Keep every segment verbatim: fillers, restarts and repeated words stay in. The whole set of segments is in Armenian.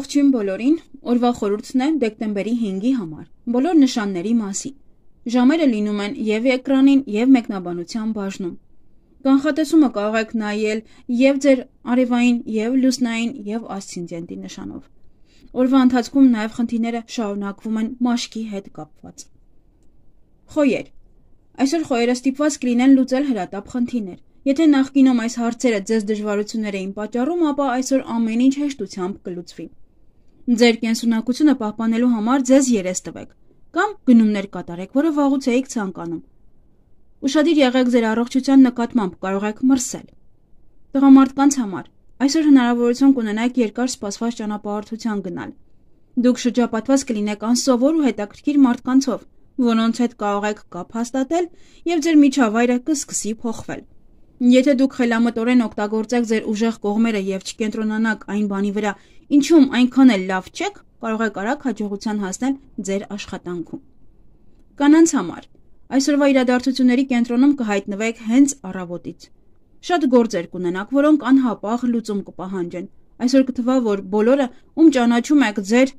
Ողջույն բոլորին, օրվա խորհուրդն է դեկտեմբերի հինգի համար, բոլոր նշանների մասին։ Ժամերը լինում են և էկրանին, և մեկնաբանության բաժնում։ Կանխատեսումը կարող եք նայել և ձեր արևային, և լուսնային, և ասցենդենտի նշանով։ Օրվա ընթացքում նաև խնդիրները շարունակվում են մաշկի հետ կապված։ Խոյեր։ Այսօր խոյերը ստիպված կլինեն լուծել հրատապ խնդիրներ։ Եթե նախկինում այս հարցերը ձեզ դժվարություններ էին պատճառում, ապա այսօր ամեն ինչ հեշտությամբ կլուծվի։ Ձեր կենսունակությունը պահպանելու համար ձեզ երես տվեք, կամ գնումներ կատարեք, որը վաղուց էիք ցանկանում։ Ուշադիր եղեք ձեր առողջության նկատմամբ, կարող եք մրսել։ Տղամարդկանց համար այսօր հնարավորություն կունենաք երկար սպասված ճանապարհորդության գնալ։ Դուք շրջապատված կլինեք անսովոր ու հետաքրքիր մարդկանցով, որոնց հետ կարող եք կապ հաստատել, և ձեր միջավայրը կսկսի փոխվել։ Եթե դուք խելամտորեն օգտագործեք ձեր ուժեղ կողմերը և չկենտրոնանաք այն բանի վրա, ինչում այնքան էլ լավ չեք, կարող եք արագ հաջողության հասնել ձեր աշխատանքում։ Կանանց համար այսօրվա իրադարձությունների կենտրոնում կհայտնվեք հենց առավոտից։ Շատ գործեր կունենաք, որոնք անհապաղ լուծում կպահանջեն։ Այսօր կթվա, որ բոլորը, ում ճանաչում եք, ձեր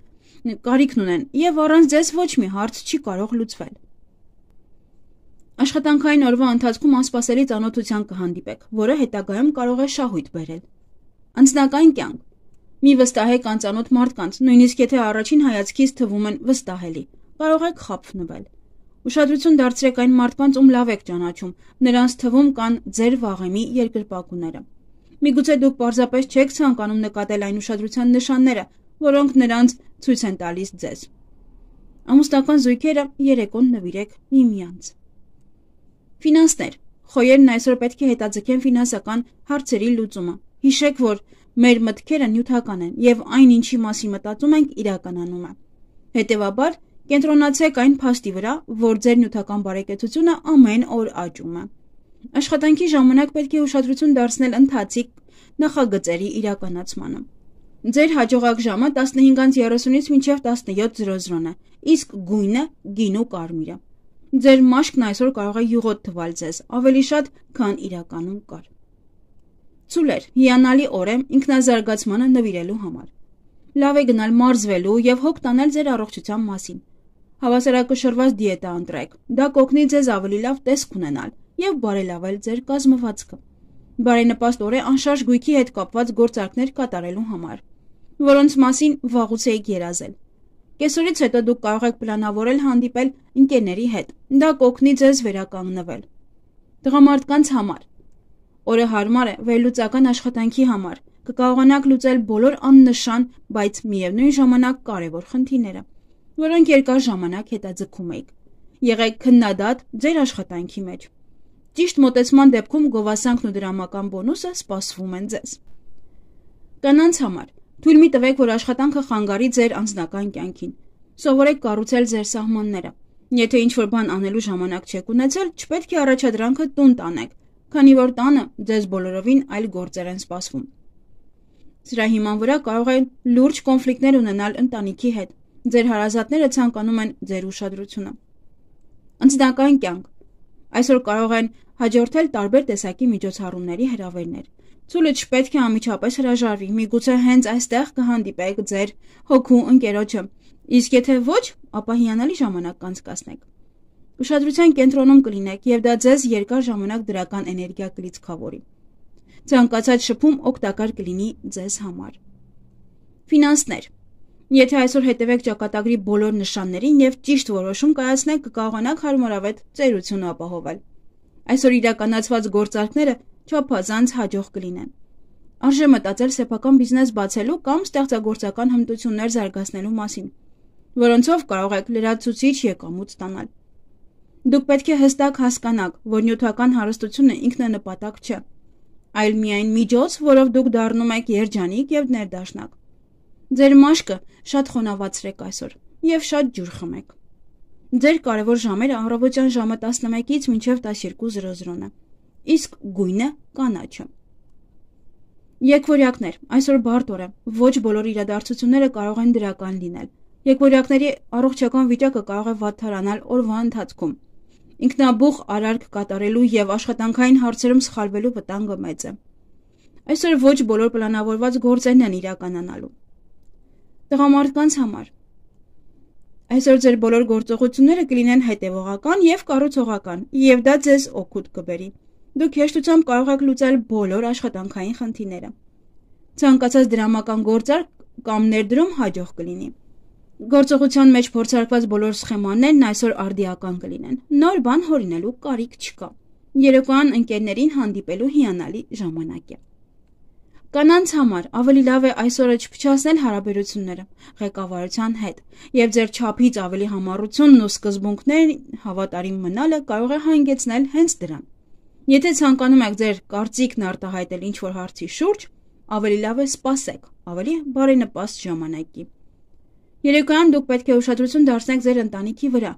կարիքն ունեն, և առանց ձեզ ոչ մի հարց չի կարող լուծվել։ Աշխատանքային օրվա ընթացքում անսպասելի ծանոթության կհանդիպեք, որը հետագայում կարող է շահույթ բերել։ Անձնական կյանք։ Մի վստահեք անծանոթ մարդկանց, նույնիսկ եթե առաջին հայացքից թվում են վստահելի, կարող եք խաբվնել։ Ուշադրություն դարձրեք այն մարդկանց, ում լավ եք ճանաչում, նրանց թվում կան ձեր վաղեմի երկրպագուները։ Միգուցե դուք պարզապես չեք ցանկանում նկատել այն ուշադրության նշանները, որոնք նրանց ցույց են տալիս ձեզ։ Ամուսնական զույգերը երեկոն նվիրեք միմյանց։ Ֆինանսներ։ Խոյերն այսօր պետք է հետաձգեն ֆինանսական հարցերի լուծումը։ Հիշեք, որ մեր մտքերը նյութական են, և այն, ինչի մասին մտածում ենք, իրականանում է։ Հետևաբար, կենտրոնացեք այն փաստի վրա, որ ձեր նյութական բարեկեցությունը ամեն օր աճում է։ Աշխատանքի ժամանակ պետք է ուշադրություն դարձնել ընթացիկ նախագծերի իրականացմանը։ Ձեր հաջողակ ժամը տասնհինգից երեսունից մինչև տասնյոթ է, իսկ գույնը գինու կարմիրը։ Ձեր մաշկն այսօր կարող է յուղոտ թվալ ձեզ, ավելի շատ, քան իրականում կար։ Ցուլեր, հիանալի օր է ինքնազարգացմանը նվիրելու համար։ Լավ է գնալ մարզվելու և հոգ տանել ձեր առողջության մասին։ Հավասարակշռված դիետա ընտրեք, դա կօգնի ձեզ ավելի լավ տեսք ունենալ և բարելավել ձեր կազմվածքը։ Բարենպաստ օր է անշարժ գույքի հետ կապված գործարքներ կատարելու համար, որոնց մասին վաղուց էիք երազել։ Կեսօրից հետո դուք կարող եք պլանավորել հանդիպել ընկերների հետ, դա կօգնի ձեզ վերականգնվել։ Տղամարդկանց համար օրը հարմար է վերլուծական աշխատանքի համար, կկարողանաք լուծել բոլոր աննշան, բայց միևնույն ժամանակ կարևոր խնդիրները, որոնք երկար ժամանակ հետաձգում էիք։ Եղեք քննադատ ձեր աշխատանքի մեջ։ Ճիշտ մոտեցման դեպքում գովասանքն ու դրամական բոնուսը սպասվում են ձեզ։ Կանանց համար թույլ մի տվեք, որ աշխատանքը խանգարի ձեր անձնական կյանքին։ Սովորեք կառուցել ձեր սահմանները։ Եթե ինչ-որ բան անելու ժամանակ չեք ունեցել, չպետք է առաջադրանքը տուն տանեք, քանի որ տանը ձեզ բոլորովին այլ գործեր են սպասվում։ Սրա հիման վրա կարող են լուրջ կոնֆլիկտներ ունենալ ընտանիքի հետ։ Ձեր հարազատները ցանկանում են ձեր ուշադրությունը։ Անձնական կյանք։ Այսօր կարող են հաջորդել տարբեր տեսակի միջոցառումների հրավերներ։ Ցուլը չպետք է անմիջապես հրաժարվի, միգուցե հենց այստեղ կհանդիպեք ձեր հոգու ընկերոջը, իսկ եթե ոչ, ապա հիանալի ժամանակ կանցկացնեք։ Ուշադրության կենտրոնում կլինեք, և դա ձեզ երկար ժամանակ դրական էներգիա կլիցքավորի։ Ցանկացած շփում օգտակար կլինի ձեզ համար։ Ֆինանսներ։ Եթե այսօր հետևեք ճակատագրի բոլոր նշաններին և ճիշտ որոշում կայացնեք, կկարողանաք հարմարավետ ծերություն ապահովել։ Այսօր իրականացված գործարքները չափազանց հաջող կլինեն։ Արժե մտածել սեփական բիզնես բացելու կամ ստեղծագործական հմտություններ զարգացնելու մասին, որոնցով կարող եք լրացուցիչ եկամուտ ստանալ։ Դուք պետք է հստակ հասկանաք, որ նյութական հարստությունը ինքնանպատակ չէ, այլ միայն միջոց, որով դուք դառնում եք երջանիկ և ներդաշնակ։ Ձեր մաշկը շատ խոնավացրեք այսօր և շատ ջուր խմեք։ Ձեր կարևոր ժամերը առավոտյան ժամը տասնմեկից մինչև տասնյոթ է, իսկ գույնը կանաչը։ Եկվորյակներ, այսօր բարդ օր է, ոչ բոլոր իրադարձությունները կարող են դրական լինել։ Եկվորյակների առողջական վիճակը կարող է վատթարանալ օրվա ընթացքում։ Ինքնաբուխ արարք կատարելու և աշխատանքային հարցերում սխալվելու վտանգը մեծ է։ Այսօր ոչ բոլոր պլանավորված գործերն են իրականանալու։ Տղամարդկանց համար այսօր ձեր բոլոր գործողությունները կլինեն հետևողական եւ կառուցողական, եւ դա ձեզ օգուտ կբերի։ Դուք հեշտությամբ կարող եք լուծել բոլոր աշխատանքային խնդիրները։ Ցանկացած դրամական գործարք կամ ներդրում հաջող կլինի։ Գործողության մեջ փորձարկված բոլոր սխեմաներն այսօր արդիական կլինեն։ Նոր բան հորինելու կարիք չկա։ Երեկոյան ընկերներին հանդիպելու հիանալի ժամանակ է։ Կանանց համար ավելի լավ է այսօրը չփչացնել հարաբերությունները ղեկավարության հետ, եւ ձեր չափից ավելի համառությունն ու սկզբունքներին հավատարիմ մնալը կարող է հանգեցնել հենց դրան։ Եթե ցանկանում եք ձեր կարծիքն արտահայտել ինչ-որ հարցի շուրջ, ավելի լավ է սպասեք ավելի բարենպաստ ժամանակի։ Երեկոյան դուք պետք է ուշադրություն դարձնեք ձեր ընտանիքի վրա,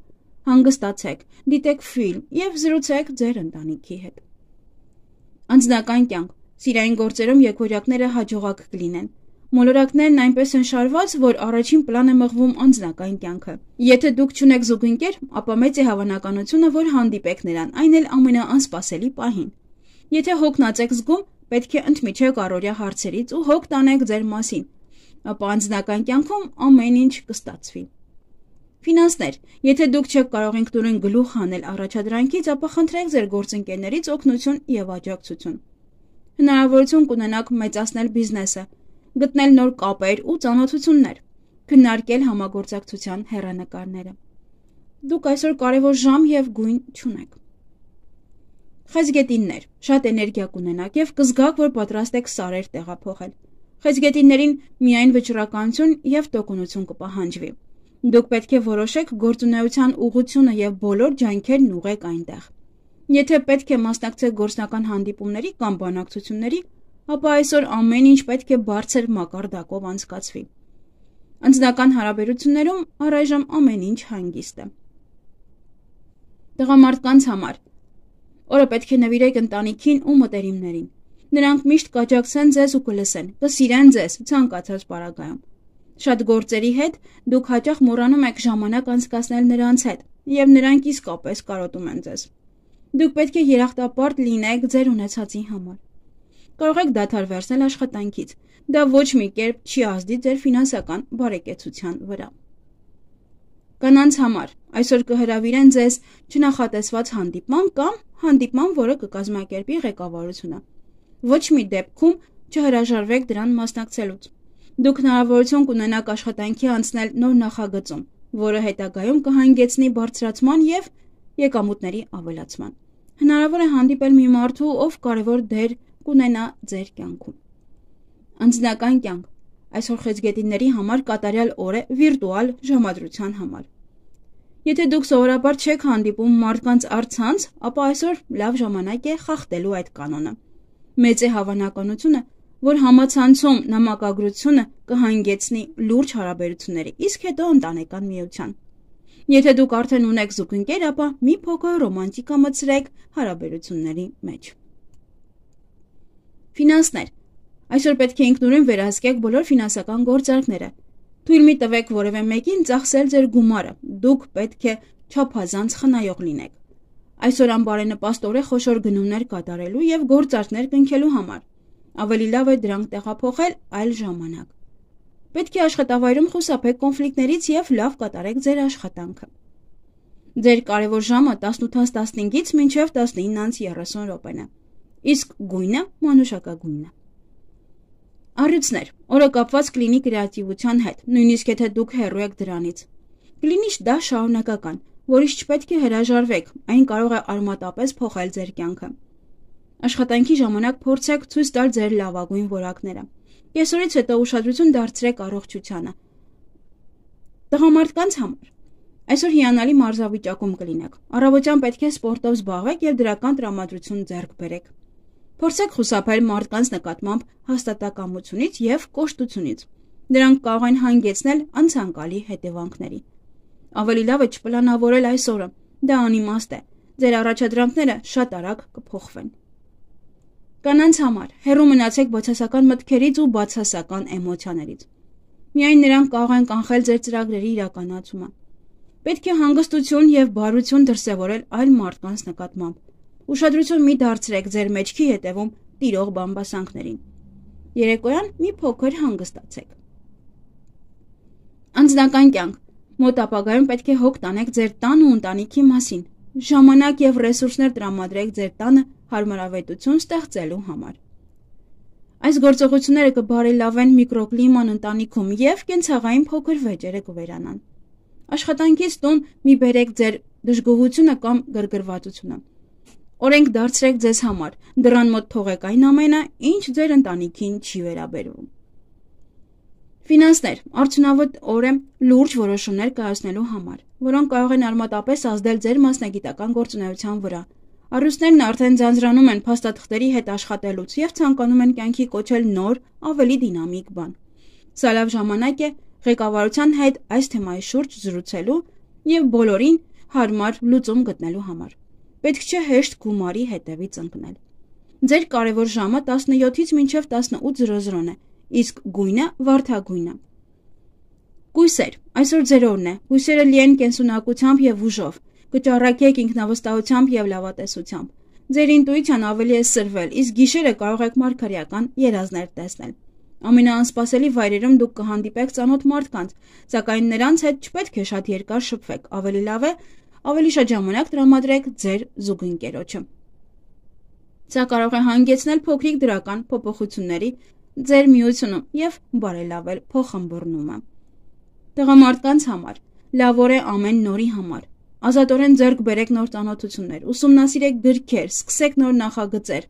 հանգստացեք, դիտեք ֆիլմ եւ զրուցեք ձեր ընտանիքի հետ։ Անձնական կյանք Սիրային գործերում եկօրյակները հաջողակ կլինեն։ Մոլորակներն այնպես են շարված, որ առաջին պլան է մղվում անձնական կյանքը։ Եթե դուք չունեք զուգընկեր, ապա մեծ է հավանականությունը, որ հանդիպեք նրան, այն էլ ամենաանսպասելի պահին։ Եթե հոգնած եք զգում, պետք է ընդմիջեք առօրյա հարցերից ու հոգ տանեք ձեր մասին, ապա անձնական կյանքում ամեն ինչ կստացվի։ Ֆինանսներ Եթե դուք չեք կարող ինքնուրույն գլուխ հանել առաջադրանքից, ապա խնդրեք ձեր գործընկերներից օգնություն եւ աջակցություն։ Հնարավորություն կունենաք մեծացնել բիզնեսը, գտնել նոր կապեր ու ծանոթություններ, քննարկել համագործակցության հեռանկարները։ Դուք այսօր կարևոր ժամ եւ գույն չունեք։ Խեցգետիններ Շատ էներգիա կունենաք եւ կզգաք, որ պատրաստ եք սարեր տեղափոխել։ Խեցգետիններին միայն վճռականություն եւ տոկունություն կպահանջվի։ Դուք պետք է որոշեք գործունեության ուղղությունը եւ բոլոր ջանքերն ուղղեք այնտեղ։ Եթե պետք է մասնակցեք գործնական հանդիպումների կամ բանակցությունների, ապա այսօր ամեն ինչ պետք է բարձր մակարդակով անցկացվի։ Անձնական հարաբերություններում առայժմ ամեն ինչ հանգիստ է։ Տղամարդկանց համար օրը պետք է նվիրեք ընտանիքին ու մտերիմներին։ Նրանք միշտ կաջակցեն ձեզ ու կլսեն, կսիրեն ձեզ ցանկացած պարագայում։ Շատ գործերի հետ դուք հաճախ մոռանում եք ժամանակ անցկасնել նրանց հետ, եւ նրանք իսկապես կարոտում են ձեզ։ Դուք պետք է երախտապարտ լինեք ձեր ունեցածի համար։ Կարող եք դադար վերցնել աշխատանքից։ Դա ոչ մի կերպ չի ազդի ձեր ֆինանսական բարեկեցության վրա։ Կանանց համար այսօր կհրավիրեն ձեզ չնախատեսված հանդիպման կամ հանդիպման, որը կկազմակերպի ղեկավարությունը։ Ոչ մի դեպքում չհրաժարվեք դրան մասնակցելուց։ Դուք հնարավորություն կունենաք աշխատանքի անցնել նոր նախագծում, որը հետագայում կհանգեցնի բարձրացման եւ եկամուտների ավելացման։ Հնարավոր է հանդիպել մի մարդու, ով կարևոր դեր կունենա ձեր կյանքում։ Անձնական կյանք այսօր խեցգետինների համար կատարյալ օր է վիրտուալ ժամադրության համար։ Եթե դուք սովորաբար չեք հանդիպում մարդկանց առցանց, ապա այսօր լավ ժամանակ է խախտելու այդ կանոնը։ Մեծ է հավանականությունը, որ համացանցում նամակագրությունը կհանգեցնի լուրջ հարաբերությունների, իսկ հետո ընտանեկան միության։ Եթե դուք արդեն ունեք զուգընկեր, ապա մի փոքր ռոմանտիկա մտցրեք հարաբերությունների մեջ։ Ֆինանսներ Այսօր պետք է ինքնուրույն վերահսկեք բոլոր ֆինանսական գործարքները։ Թույլ մի տվեք որևէ մեկին ծախսել ձեր գումարը։ Դուք պետք է չափազանց խնայող լինեք։ Այսօր անբարենպաստ օր է խոշոր գնումներ կատարելու եւ գործարքներ կնքելու համար։ Ավելի լավ է դրանք տեղափոխել այլ ժամանակ։ Պետք է աշխատավայրում խուսափեք կոնֆլիկտներից եւ լավ կատարեք ձեր աշխատանքը։ Ձեր կարևոր ժամը տասնութից տասնհինգից մինչև տասնինից երեսուն րոպեն է։ Իսկ գույնը մանուշակագույնն է։ Առյուծներ օրը կապված կլինի կրեատիվության հետ, նույնիսկ եթե դուք հեռու եք դրանից։ Կլինի դա շարունակական, որից չպետք է հրաժարվեք, այն կարող է արմատապես փոխել ձեր կյանքը։ Աշխատանքի ժամանակ փորձեք ցույց տալ ձեր լավագույն որակները։ Կեսօրից հետո ուշադրություն դարձրեք առողջությանը։ Տղամարդկանց համար այսօր հիանալի մարզավիճակում կլինեք։ Առավոտյան պետք է սպորտով զբաղվեք եւ դրական տրամադրություն ձեռք բերեք։ Փորձեք խուսափել մարդկանց նկատմամբ հաստատակամությունից եւ կոշտությունից։ Դրանք կարող են հանգեցնել անցանկալի հետևանքների։ Ավելի լավ է չպլանավորել այս օրը։ Դա անիմաստ է։ Ձեր առաջադրանքները շատ արագ կփոխվեն։ Կանանց համար հեռու մնացեք բացասական մտքերից ու բացասական էմոցիաներից։ Միայն նրանք կարող են կանխել ձեր ծրագրերի իրականացումը։ Պետք է հանգստություն եւ բարություն դրսեւորել այլ մարդկանց նկատմամբ։ Ուշադրություն մի դարձրեք ձեր մեջքի հետևում տիրող բամբասանքներին։ Երեկոյան մի փոքր հանգստացեք։ Անձնական կյանք։ Մոտ ապագայում պետք է հոգ տանեք ձեր տան ու ընտանիքի մասին։ Ժամանակ եւ ռեսուրսներ տրամադրեք ձեր տանը հարմարավետություն ստեղծելու համար։ Այս գործողությունները կբարելավեն միկրոկլիման ընտանիքում եւ կենցաղային փոքր վեճերը կվերանան։ Աշխատանքից տուն մի բերեք ձեր դժգոհությունը կամ գրգռվածությունը։ Օրենք դարձրեք ձեզ համար, դռան մոտ թողեք այն ամենը, ինչ ձեր ընտանիքին չի վերաբերվում։ Ֆինանսներ, արդյունավետ օր է լուրջ որոշումներ կայացնելու համար, որոնք կարող են արմատապես ազդել ձեր մասնագիտական գործունեության վրա։ Առյուծներն արդեն ձանձրանում են փաստաթղթերի հետ աշխատելուց եւ ցանկանում են կյանքի կոչել նոր, ավելի դինամիկ բան։ Սա լավ ժամանակ է ղեկավարության հետ այս թեմայի շուրջ զրուցելու եւ բոլորին հարմար լուծում գտնելու համար։ Պետք չէ հեշտ գումարի հետևից ընկնել։ Ձեր կարևոր ժամը տասնյոթից մինչև տասնութ զրոզրոն է, իսկ գույնը վարդագույնը։ Կույսեր, այսօր ձեր օրն է։ Կույսերը լի են կենսունակությամբ եւ ուժով։ Կճառակեք ինքնավստահությամբ եւ լավատեսությամբ։ Ձեր ինտուիցիան ավելի է սրվել, իսկ գիշերը կարող եք մարգարեական երազներ տեսնել։ Ամենաանսպասելի վայրերում դուք կհանդիպեք ծանոթ մարդկանց, սակայն նրանց հետ չպետք է շատ երկար շփվեք, ավելի լավ է ավելի շատ ժամանակ տրամադրեք ձեր զուգընկերոջը։ Սա կարող է հանգեցնել փոքրիկ դրական փոփոխությունների ձեր միությունում եւ բարելավել փոխըմբռնումը։ Տղամարդկանց համար լավ օր է ամեն նորի համար։ Ազատորեն ձեռք բերեք նոր ծանոթություններ, ուսումնասիրեք գրքեր, սկսեք նոր նախագծեր։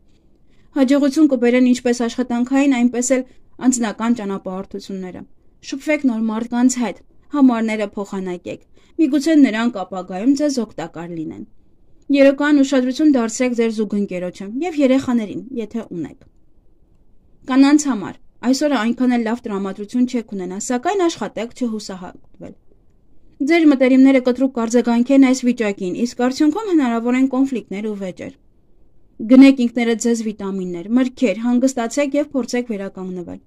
Հաջողություն կբերեն ինչպես աշխատանքային, այնպես էլ անձնական ճանապարհորդությունները։ Շփվեք նոր մարդկանց հետ, համարները փոխանակեք։ Միգուցե նրանք ապագայում ձեզ օգտակար լինեն։ Երեկոյան ուշադրություն դարձրեք ձեր զուգընկերոջը եւ երեխաներին, եթե ունեք։ Կանանց համար այսօրը այնքան էլ լավ տրամադրություն չեք ունենա, սակայն աշխատեք չհուսահատվել։ Ձեր մտերիմները կտրուկ կարձագանքեն այս վիճակին, իսկ արդյունքում հնարավոր են կոնֆլիկտներ ու վեճեր։ Գնեք ինքներդ ձեզ վիտամիններ, մրգեր, հանգստացեք եւ փորձեք վերականգնվել։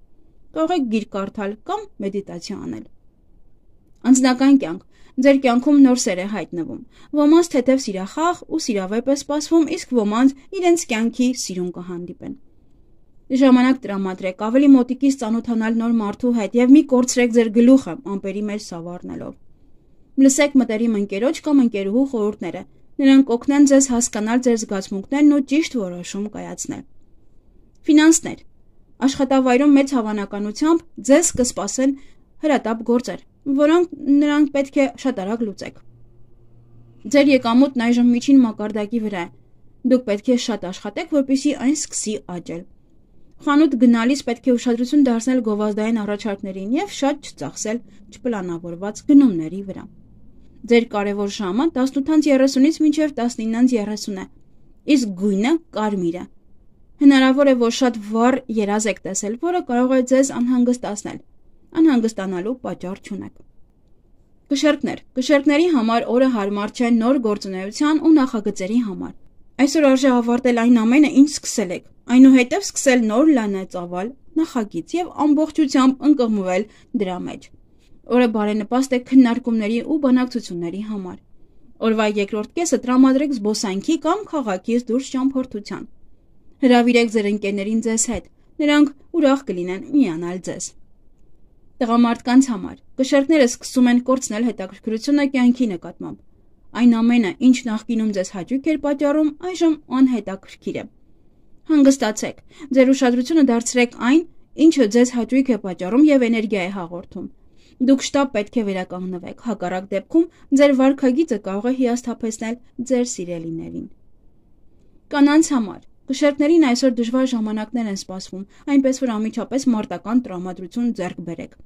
Կարող եք գիրք կարդալ կամ մեդիտացիա անել։ Անձնական կյանք։ Ձեր կյանքում նոր սեր է հայտնվում։ Ոմանց թեթև սիրախաղ ու սիրավեպ է սպասվում, իսկ ոմանց իրենց կյանքի սիրուն կհանդիպեն։ Ժամանակ տրամադրեք ավելի մոտիկից ծանոթանալ նոր մարդու հետ եւ մի կորցրեք ձեր գլուխը ամպերի մեջ սավառնելով։ Լսեք մտերիմ ընկերոջ կամ ընկերուհու խորհուրդները։ Նրանք կօգնեն ձեզ հասկանալ ձեր զգացմունքներն ու ճիշտ որոշում կայացնել։ Ֆինանսներ։ Աշխատավայրում մեծ հավանականությամբ ձեզ կսպասեն հրատապ գործեր, որոնք նրանք պետք է շատ արագ լուծեք։ Ձեր եկամուտն այժմ միջին մակարդակի վրա է։ Դուք պետք է շատ աշխատեք, որպեսզի այն սկսի աճել։ Խանութ գնալիս պետք է ուշադրություն դարձնել գովազդային առաջարկներին եւ շատ չծախսել չպլանավորված գնումների վրա։ Ձեր կարևոր ժամը տասնութ երեսունից մինչև տասնինը երեսուն է, իսկ գույնը կարմիր է։ Հնարավոր է, որ շատ վառ երազ եք տեսել, որը կարող է ձեզ անհանգստացնել։ Անհանգստանալու պատճառ չունեք։ Կշեռքներ։ Կշեռքների համար օրը հարմար չէ նոր գործունեության ու նախագծերի համար։ Այսօր արժե ավարտել այն ամենը, ինչ սկսել եք, այնուհետև սկսել նոր լայնածավալ նախագիծ եւ ամբողջությամբ ընկղմվել դրա մեջ։ Օրը բարենպաստ է քննարկումների ու բանակցությունների համար։ Օրվա երկրորդ կեսը տրամադրեք զբոսանքի կամ քաղաքից դուրս ճամփորդության։ Հրավիրեք ձեր ընկերներին ձեզ հետ, նրանք ուրախ կլինեն միանալ ձեզ։ Տղամարդկանց համար կշեռքները սկսում են կորցնել հետաքրքրությունը կյանքի նկատմամբ։ Այն ամենը, ինչ նախկինում ձեզ հաճույք էր պատճառում, այժմ անհետաքրքիր է։ Հանգստացեք, ձեր ուշադրությունը դարձրեք այն, ինչը ձեզ հաճույք է պատճառում եւ էներգիա է հաղորդում։ Դուք շտապ պետք է վերականգնվեք, հակառակ դեպքում ձեր վարքագիծը կարող է հիասթափեցնել ձեր սիրելիներին։ Կանանց համար կշեռքներին այսօր դժվար ժամանակներ են սպասվում, այնպես որ անմիջապես մարտական տրամադրություն ձեռք բերեք։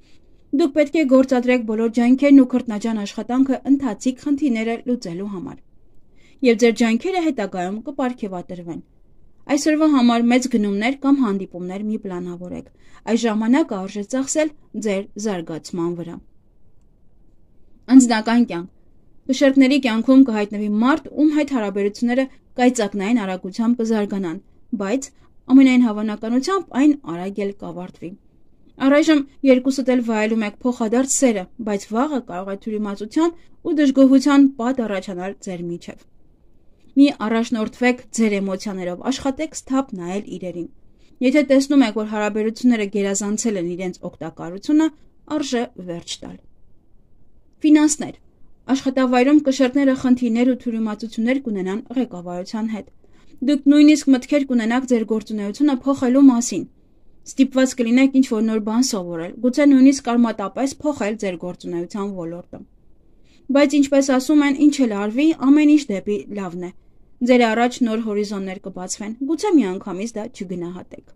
Դուք պետք է գործադրեք բոլոր ջանքերն ու քրտնաջան աշխատանքը ընթացիկ խնդիրները լուծելու համար։ Եվ ձեր ջանքերը հետագայում կպարգևատրվեն։ Այսօրվա համար մեծ գնումներ կամ հանդիպումներ մի պլանավորեք։ Այս ժամանակը արժե ծախսել ձեր զարգացման վրա։ Անձնական կյանք։ Կշեռքների կյանքում կհայտնվի մարդ, ում հետ հարաբերությունները կայծակնային արագությամբ կզարգանան, բայց ամենայն հավանականությամբ այն արագ էլ կավարտվի։ Առայժմ երկուսդ էլ վայելում եք փոխադարձ սերը, բայց վաղը կարող է թյուրիմացության ու դժգոհության պատ առաջանալ ձեր միջև։ Մի առաջնորդվեք ձեր էմոցիաներով, աշխատեք սթափ նայել իրերին։ Եթե տեսնում եք, որ հարաբերությունները գերազանցել են իրենց օգտակարությունը, արժե վերջ տալ։ Ֆինանսներ։ Աշխատավայրում կշեռքները խնդիրներ ու թյուրիմացություններ կունենան ղեկավարության հետ։ Դուք նույնիսկ մտքեր կունենաք ձեր գործունեությունը փոխելու մասին։ Ստիպված կլինեք ինչ-որ նոր բան սովորել, գուցե նույնիսկ արմատապես փոխել ձեր գործունեության ոլորտը։ Բայց ինչպես ասում են, ինչ էլ արվի, ամեն ինչ դեպի լավն է։ Ձեր առաջ նոր հորիզոններ կբացվեն, գուցե միանգամից դա չգնահատեք։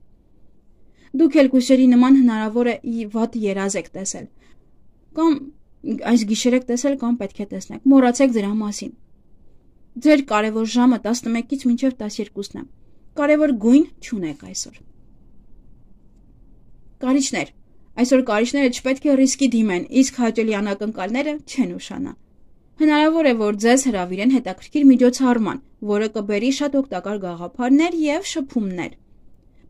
Դուք էլ գիշերի նման հնարավոր է վատ երազ եք տեսել, կամ այս գիշեր եք տեսել կամ պետք է տեսնեք, մոռացեք դրա մասին։ Ձեր կարևոր ժամը տասնմեկից մինչև տասներկուսն է։ Կարևոր գույն չունեք այսօր։ Կարիճներ։ Այսօր կարիճները չպետք է ռիսկի դիմեն, իսկ հաճելի անակնկալները չեն ուշանա։ Հնարավոր է, որ ձեզ հրավիրեն հետաքրքիր միջոցառման, որը կբերի շատ օգտակար գաղափարներ և շփումներ։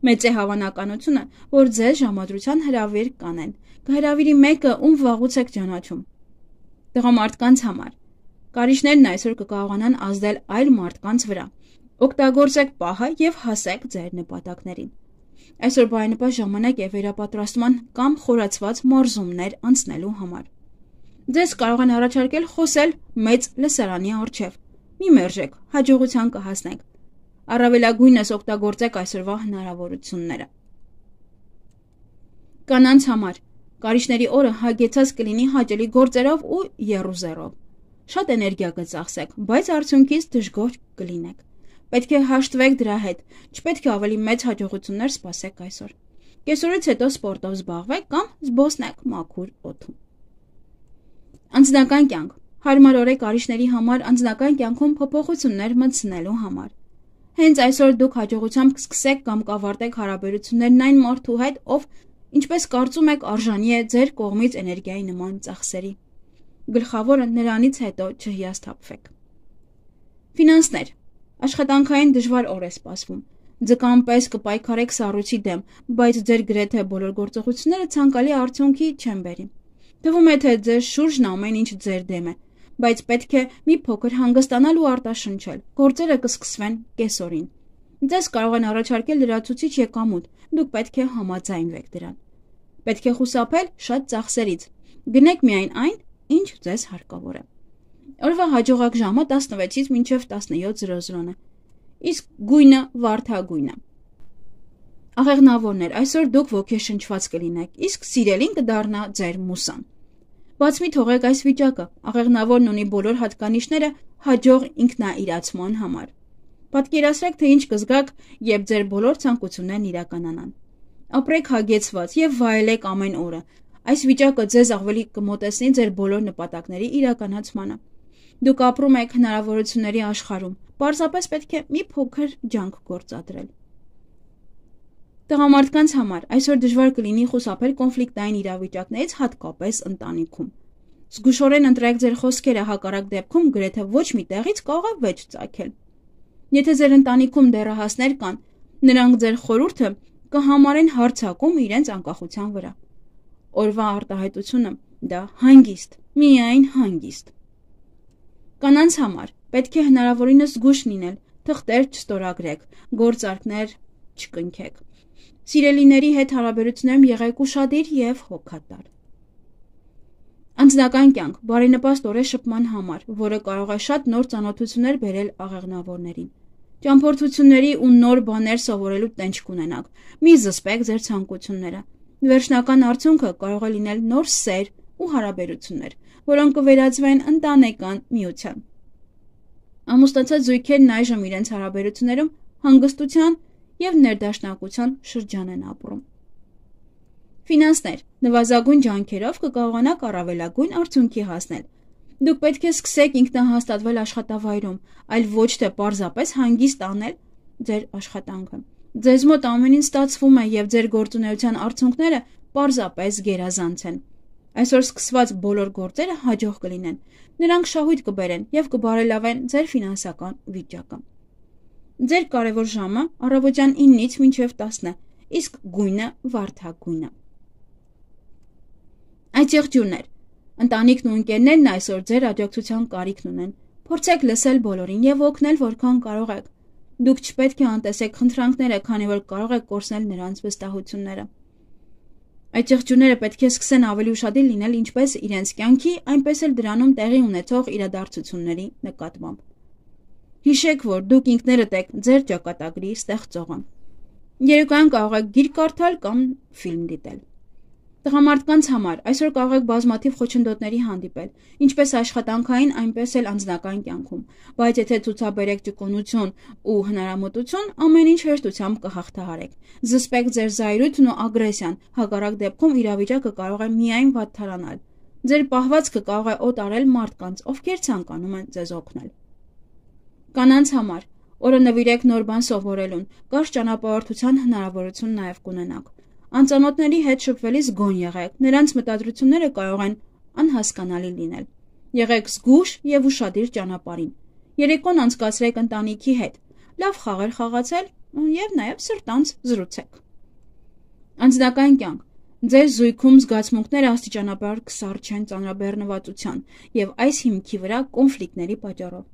Մեծ է հավանականությունը, որ ձեզ ժամադրության հրավեր կանեն, կհրավիրի մեկը, ում վաղուց եք ճանաչում։ Տղամարդկանց համար։ Կարիճներն այսօր կկարողանան ազդել այլ մարդկանց վրա։ Օգտագործեք պահը և հասեք ձեր նպատակներին։ Այսօր բարենպաստ ժամանակ է վերապատրաստման կամ խորացված մարզումներ անցնելու համար։ Ձեզ կարող են առաջարկել խոսել մեծ լսարանի առջև։ Մի մերժեք, հաջողության կհասնեք։ Առավելագույնս օգտագործեք այսօրվա հնարավորությունները։ Կանանց համար։ Կարիճների օրը հագեցած կլինի հաճելի գործերով ու եռուզեռով։ Շատ էներգիա կծախսեք, բայց արդյունքից դժգոհ կլինեք։ Պետք է հաշտվեք դրա հետ, չպետք է ավելի մեծ հաջողություններ սպասեք այսօր։ Կեսօրից հետո սպորտով զբաղվեք կամ զբոսնեք մաքուր օդում։ Անձնական կյանք։ Հարմար օր է կարիճների համար անձնական կյանքում փոփոխություններ մտցնելու համար։ Հենց այսօր դուք հաջողությամբ կսկսեք կամ կավարտեք հարաբերություններն այն մարդու հետ, ով, ինչպես կարծում եք, արժանի է ձեր կողմից էներգիայի նման ծախսերի։ Գլխավորը նրանից հետո չհիասթափվեք։ Ֆինանսներ։ Աշխատանքային դժվար օր է սպասվում։ Ձկան պես կպայքարեք սառույցի դեմ, բայց ձեր գրեթե բոլոր գործողությունները ցանկալի արդյունքի չեն բերի։ Թվում է, թե ձեր շուրջն ամեն ինչ ձեր դեմ է, բայց պետք է մի փոքր հանգստանալ ու արտաշնչել։ Գործերը կսկսվեն կեսօրին։ Ձեզ կարող են առաջարկել լրացուցիչ եկամուտ, դուք պետք է համաձայնվեք դրան։ Պետք է խուսափել շատ ծախսերից։ Գնեք միայն այն, ինչ ձեզ հարկավոր է։ Օրվա հաջողակ ժամը տասնվեցից մինչև տասնյոթ է, իսկ գույնը վարդագույն է։ Աղեղնավորներ, այսօր դուք ոգեշնչված կլինեք, իսկ սիրելին կդառնա ձեր մուսան։ Բաց մի թողեք այս վիճակը, աղեղնավորն ունի բոլոր հատկանիշները հաջող ինքնաիրացման համար։ Պատկերացրեք, թե ինչ կզգաք, երբ ձեր բոլոր ցանկություններն իրականանան։ Ապրեք հագեցված և վայելեք ամեն օրը։ Այս վիճակը ձեզ ավելի կմոտեցնի ձեր բոլոր նպատակների իրականացմանը։ Դուք ապրում եք հնարավորությունների աշխարհում, պարզապես պետք է մի փոքր ջանք գործադրել։ Տղամարդկանց համար այսօր դժվար կլինի խուսափել կոնֆլիկտային իրավիճակներից, հատկապես ընտանիքում։ Զգուշորեն ընտրեք ձեր խոսքերը, հակառակ դեպքում գրեթե ոչ մի տեղից կարող է վեճ ծագել։ Եթե ձեր ընտանիքում դեռահասներ կան, նրանք ձեր խորհուրդը կհամարեն հարձակում իրենց անկախության վրա։ Օրվա արտահայտությունը դա հանգիստ, միայն հանգիստ։ Կանանց համար պետք է հնարավորինս զգույշ լինել, թղթեր չստորագրեք, գործարքներ չկնքեք։ Սիրելիների հետ հարաբերություններում եղեք ուշադիր և հոգատար։ Անձնական կյանք բարենպաստ օր է շփման համար, որը կարող է շատ նոր ծանոթություններ բերել աղեղնավորներին։ Ճամփորդությունների ու նոր բաներ սովորելու տենչ կունենաք։ Մի զսպեք ձեր ցանկությունները։ Վերջնական արդյունքը կարող է լինել նոր սեր ու հարաբերություններ, որոնք կվերածվեն ընտանեկան միության։ Ամուսնացած զույգերն այժմ իրենց հարաբերություններում հանգստության և ներդաշնակության շրջան են ապրում։ Ֆինանսներ, նվազագույն ջանքերով կկարողանաք առավելագույն արդյունքի հասնել։ Դուք պետք է սկսեք ինքնահաստատվել աշխատավայրում, այլ ոչ թե պարզապես հանգիստ անել ձեր աշխատանքը։ Ձեզ մոտ ամեն ինչ ստացվում է և ձեր գործունեության արդյունքները պարզապես գերազանց են։ Այսօր սկսված բոլոր գործերը հաջող կլինեն։ Նրանք շահույթ կբերեն և կբարելավեն ձեր ֆինանսական վիճակը։ Ձեր կարևոր ժամը առավոտյան իննից մինչև տասն է, իսկ գույնը վարդագույն է։ Այդ եղջյուրներ, ընտանիքն ու ընկերներն այսօր ձեր աջակցության կարիքն ունեն։ Փորձեք լսել բոլորին և օգնել որքան կարող եք։ Դուք չպետք է անտեսեք խնդրանքները, քանի որ կարող եք կորցնել նրանց վստահությունները։ Այդ եղջյուրները պետք է սկսեն ավելի ուշադիր լինել ինչպես իրենց կյանքի, այնպես էլ դրանում տեղի ունեցող իրադարձությունների նկատմամբ։ Հիշեք, որ դուք ինքներդ եք ձեր ճակատագրի ստեղծողը։ Երեկոյան կարող եք գիրք կարդալ կամ ֆիլմ դիտել։ Տղամարդկանց համար այսօր կարող եք բազմաթիվ խոչընդոտների հանդիպել, ինչպես աշխատանքային, այնպես էլ անձնական կյանքում, բայց եթե ցուցաբերեք ճկունություն ու հնարամտություն, ամեն ինչ հեշտությամբ կհաղթահարեք։ Զսպեք ձեր զայրույթն ու ագրեսիան, հակառակ դեպքում իրավիճակը կարող է միայն վատթարանալ։ Ձեր պահվածքը կարող է օտարել մարդկանց, ովքեր ցանկանում են ձեզ օգնել։ Կանանց համար օրը նվիրեք նոր բան սովորելուն, կարճ ճանապարհորդության հնարավորություն նաև կունենաք։ Անծանոթների հետ շփվելիս գոն եղեք, նրանց մտադրությունները կարող են անհասկանալի լինել։ Եղեք զգույշ եւ ուշադիր ճանապարհին։ Երեկոն անցկացրեք ընտանիքի հետ, լավ խաղեր խաղացել եւ նաեւ սրտանց զրուցեք։ Անձնական կյանք։ Ձեր զույգում զգացմունքները աստիճանաբար կսառչեն ծանրաբեռնվածության եւ այս հիմքի վրա կոնֆլիկտների պատճառով։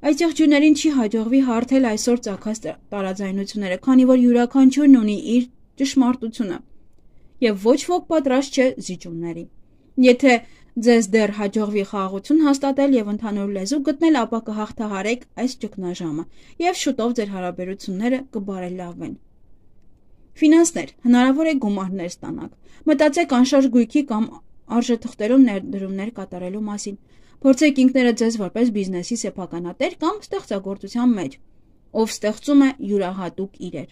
Այս եղջյուրներին չի հաջողվի հարթել այսօր ծագած տարաձայնությունները, քանի որ յուրաքանչյուրն ունի իր ճշմարտությունը եւ ոչ ոք պատրաստ չէ զիջումների։ Եթե ձեզ դեռ հաջողվի խաղաղություն հաստատել եւ ընդհանուր լեզու գտնել, ապա կհաղթահարեք այս ճգնաժամը եւ շուտով ձեր հարաբերությունները կբարելավեն։ Ֆինանսներ, հնարավոր է գումարներ ստանաք։ Մտածեք անշարժ գույքի կամ արժեթղթերում ներդրումներ կատարելու մասին։ Փորձեք ինքներդ ձեզ որպես բիզնեսի սեփականատեր կամ ստեղծագործության մեջ, ով ստեղծում է յուրահատուկ իրեր։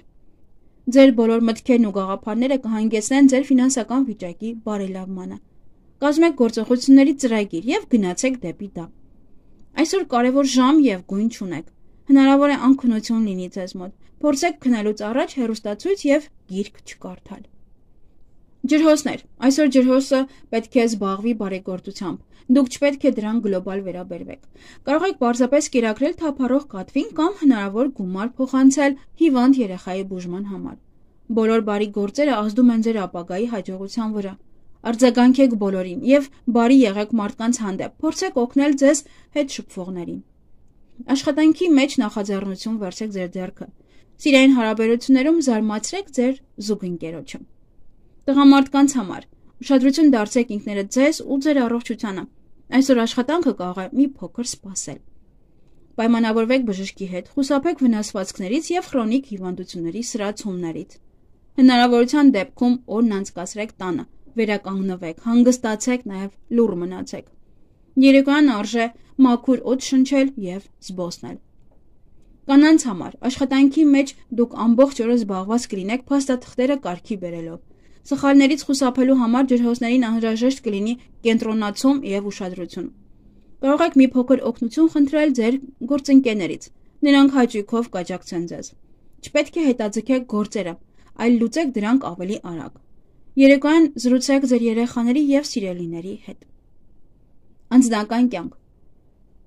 Ձեր բոլոր մտքերն ու գաղափարները կհանգեցնեն ձեր ֆինանսական վիճակի բարելավմանը։ Կազմեք գործողությունների ծրագիր եւ գնացեք դեպի դա։ Այսօր կարևոր ժամ եւ գույն չունեք։ Հնարավոր է անքնություն լինի ձեզ մոտ։ Փորձեք քնելուց առաջ հեռուստացույց եւ գիրք չկարդալ։ Ջրհոսներ։ Այսօր ջրհոսը պետք է զբաղվի բարեգործությամբ։ Դուք չպետք է դրան գլոբալ վերաբերվեք։ Կարող եք պարզապես կերակրել թափառող կատվին կամ հնարավոր գումար փոխանցել հիվանդ երեխայի բուժման համար։ Բոլոր բարի գործերը ազդում են ձեր ապագայի հաջողության վրա։ Արձագանքեք բոլորին եւ բարի եղեք մարդկանց հանդեպ։ Փորձեք օգնել ձեզ հետ շփվողներին։ Աշխատանքի մեջ նախաձեռնություն վերցրեք ձեր ձեռքը։ Սիրային հարաբերություններում զարմացրեք ձեր զուգընկերոջը։ Տղամարդկանց համար ուշադրություն դարձրեք ինքներդ ձեզ ու ձեր առողջությանը։ Այսօր աշխատանքը կարող է մի փոքր սպասել։ Պայմանավորվեք բժշկի հետ, խուսափեք վնասվածքներից եւ քրոնիկ հիվանդությունների սրացումներից։ Հնարավորության դեպքում օրն անցկացրեք տանը, վերականգնվեք, հանգստացեք, նաեւ լուռ մնացեք։ Երեկոյան արժե մաքուր օդ շնչել եւ զբոսնել։ Կանանց համար աշխատանքի մեջ դուք ամբողջ օրը զբաղված կլինեք փաստաթղթերը կարգի բերելով։ Սխալներից խուսափելու համար ջրհոսներին անհրաժեշտ կլինի կենտրոնացում եւ ուշադրություն։ Կարող եք մի փոքր օգնություն խնդրել ձեր գործընկերներից։ Նրանք հաճույքով կաջակցեն ձեզ։ Չպետք է հետաձգեք գործերը, այլ լուծեք դրանք ավելի արագ։ Երեկոյան զրուցեք ձեր երեխաների եւ սիրելիների հետ։ Անձնական կյանք։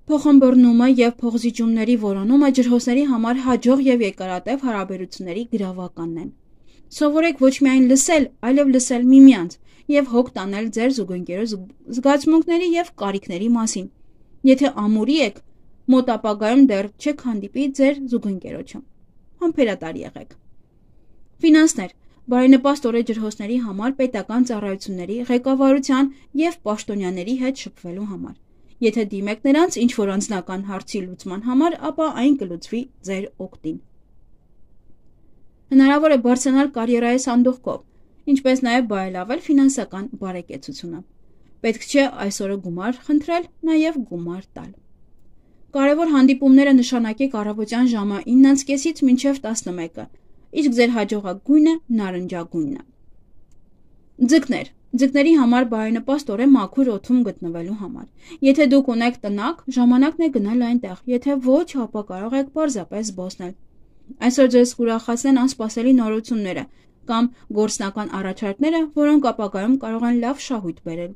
Փոխըմբռնումը եւ փոխզիջումների որոնումը ջրհոսների համար հաջող եւ երկարատև հարաբերությունների գրավականն են։ Սովորեք ոչ միայն լսել, այլև լսել միմյանց եւ հոգ տանել ձեր զուգընկերոջ զգացմունքների եւ կարիքների մասին։ Եթե ամուրի եք, մոտ ապագայում դեռ չեք հանդիպի ձեր զուգընկերոջը։ Համբերատար եղեք։ Ֆինանսներ։ Բարենպաստ օրը ջրհոսների համար պետական ծառայությունների, ղեկավարության եւ պաշտոնյաների հետ շփվելու համար։ Եթե դիմեք նրանց ինչ որ անձնական հարցի լուծման համար, ապա այն կլուծվի ձեր օգտին։ Հնարավոր է բարձրանալ կարիերայի սանդուղքով, ինչպես նաև բարելավել ֆինանսական բարեկեցությունը։ Պետք չէ այսօրը գումար խնդրել, նաև գումար տալ։ Կարևոր հանդիպումները նշանակեք առավոտյան ժամը իննից կեսից մինչև տասնմեկը, իսկ ձեր հաջողակ գույնը նարնջագույնն է։ Ձկներ։ Ձկների համար բարենպաստ օր է մաքուր օդում գտնվելու համար։ Եթե դուք ունեք տնակ, ժամանակն է գնալ այնտեղ, եթե ոչ, ապա կարող եք պարզապես զբոսնել։ Այսօր ձեզ կուրախացնեն անսպասելի նորությունները կամ գործնական առաջարկները, որոնք ապագայում կարող են լավ շահույթ բերել։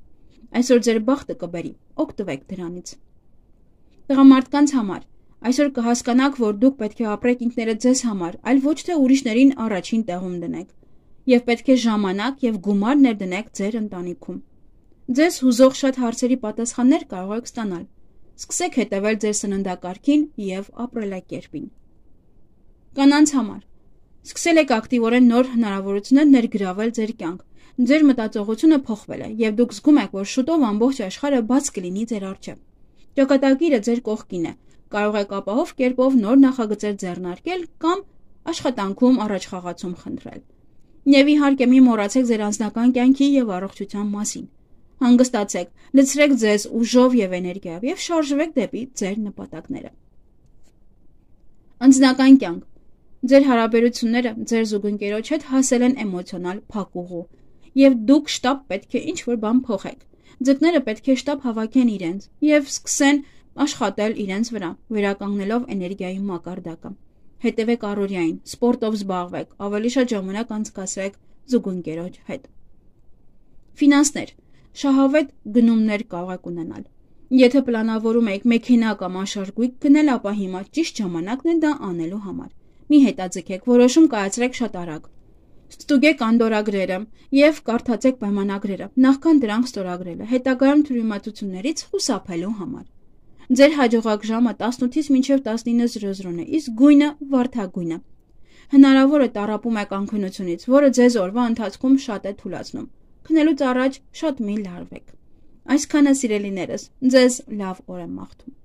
Այսօր ձեր բախտը կբերի, օգտվեք դրանից։ Տղամարդկանց համար այսօր կհասկանաք, որ դուք պետք է ապրեք ինքներդ ձեզ համար, այլ ոչ թե ուրիշներին առաջին տեղում դնեք, եւ պետք է ժամանակ եւ գումար ներդնեք ձեր ընտանիքում։ Ձեզ հուզող շատ հարցերի պատասխաններ կարող եք ստանալ։ Սկսեք հետևել ձեր սննդակարգին եւ ապրելակերպին։ Կանանց համար Սկսել եք ակտիվորեն նոր հնարավորություններ ներգրավել ձեր կյանք։ Ձեր մտածողությունը փոխվել է եւ դուք զգում եք, որ շուտով ամբողջ աշխարհը բաց կլինի ձեր առջև։ Ճակատագիրը ձեր կողքին է։ Կարող եք ապահով կերպով նոր նախագծեր ձեռնարկել կամ աշխատանքում առաջխաղացում խնդրել։ Եվ իհարկե մի մոռացեք ձեր անձնական կյանքի եւ առողջության մասին։ Հանգստացեք, լցրեք ձեզ ուժով եւ էներգիայով եւ շարժվեք դեպի ձեր նպատակները։ Անձնական կյանք։ Ձեր հարաբերությունները ձեր զուգընկերոջ հետ հասել են էմոցիոնալ փակուղու եւ դուք շտապ պետք է ինչ-որ բան փոխեք։ Ձկները պետք է շտապ հավաքեն իրենց եւ սկսեն աշխատել իրենց վրա, վերականգնելով էներգիայի մակարդակը։ Հետևեք առօրյային, սպորտով զբաղվեք, ավելի շատ ժամանակ անցկացրեք զուգընկերոջ հետ։ Ֆինանսներ։ Շահավետ գնումներ կարող եք ունենալ։ Եթե պլանավորում եք մեքենա կամ անշարժույթ գնել, ապա հիմա ճիշտ ժամանակն է դա անելու համար։ Մի հետաձգեք, որոշում կայացրեք շատ արագ։ Ստուգեք անդորագրերը եւ կարդացեք պայմանագրերը, նախքան դրանք ստորագրելը, հետագայում թյուրիմացություններից խուսափելու համար։ Ձեր հաջողակ ժամը տասնութից մինչև տասնինը զրո զրոն է, իսկ գույնը վարդագույնը։ Հնարավոր է տառապում եք անքնությունից, որը ձեզ օրվա ընթացքում շատ է թուլացնում։ Քնելուց առաջ շատ մի լարվեք։ Այսքանը սիրելիներս, ձեզ լավ օր եմ մաղթում։